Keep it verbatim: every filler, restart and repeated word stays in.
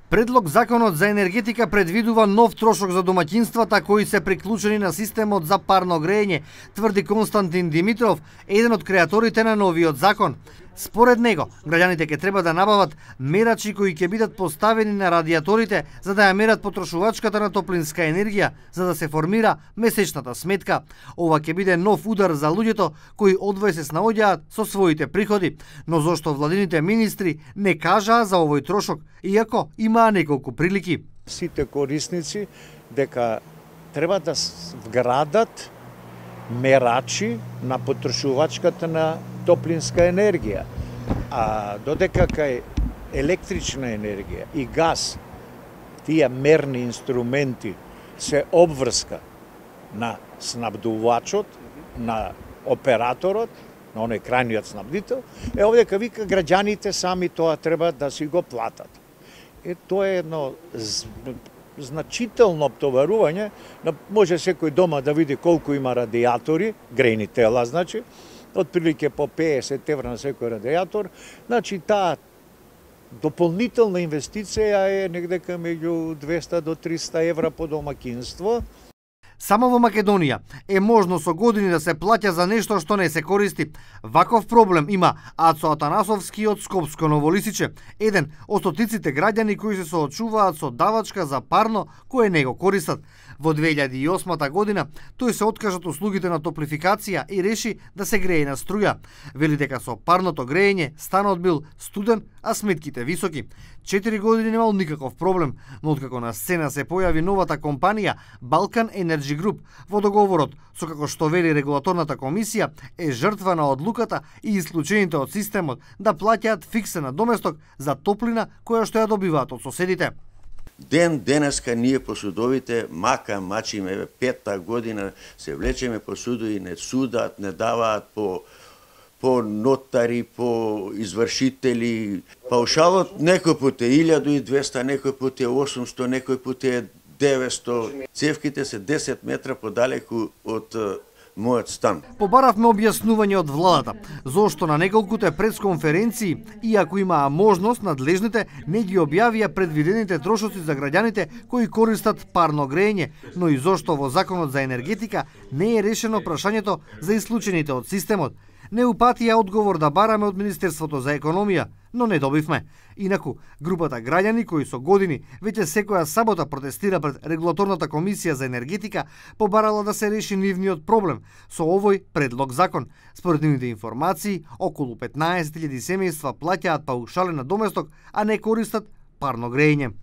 Предлог законот за енергетика предвидува нов трошок за домаќинствата кои се приклучени на системот за парно грејење, тврди Константин Димитров, еден од креаторите на новиот закон. Според него, граѓаните ќе треба да набават мерачи кои ќе бидат поставени на радиаторите за да ја мерат потрошувачката на топлинска енергија, за да се формира месечната сметка. Ова ќе биде нов удар за луѓето кои одвој се снаоѓаат со своите приходи. Но зошто владините министри не кажаа за овој трошок, иако имаа неколку прилики? Сите корисници дека треба да вградат мерачи на потрошувачката на топлинска енергија, а додека кај електрична енергија и газ, тие мерни инструменти се обврска на снабдувачот, на операторот, на оној крајниот снабдител, е овдека вика граѓаните сами тоа треба да си го платат. Е, тоа е едно значително обтоварување, може секој дома да види колку има радиатори, грејни тела, значи, отприлike по песет евра на секој радиатор, значи таа дополнителна инвестиција е негдека меѓу двеста до триста евра по домаќинство. Само во Македонија е можно со години да се плаќа за нешто што не се користи. Ваков проблем има Ацо Атанасовски од Скопско Новолисиче, еден од стотиците граѓани кои се соочуваат со давачка за парно кое не го користат. Во две илјади и осма година тој се откажа од услугите на топлификација и реши да се грее на струја. Вели дека со парното греење станот бил студен, а сметките високи. Четири години немал никаков проблем, но откако на сцена се појави новата компанија Балкан Енерджи Груп, во договорот со како што вели регулаторната комисија е жртва на одлуката и исклучените од системот да плаќаат фиксен надоместок за топлина која што ја добиваат од соседите. Ден денеска ние по судовите мака мачиме, петта година се влечеме по судови, не судат, не даваат по по нотари, по извршители. Паушалот некој пат е илјаду и двеста, некој пат е осумсто, некој пат е деветсто. Цевките се десет метра подалеку од мојот стан. Побаравме објаснување од владата, зошто на неколкуте пресконференции, иако имаа можност, надлежните не ги објавија предвидените трошоци за граѓаните кои користат парно греење, но и зошто во законот за енергетика не е решено прашањето за исклучените од системот. Не упатија одговор да бараме од Министерството за економија, но не добивме. Инаку, групата граѓани кои со години веќе секоја сабота протестира пред регулаторната комисија за енергетика побарала да се реши нивниот проблем со овој предлог закон. Според нивните информации, околу петнаесет илјади семејства плаќаат паушален надоместок, а не користат парно греење.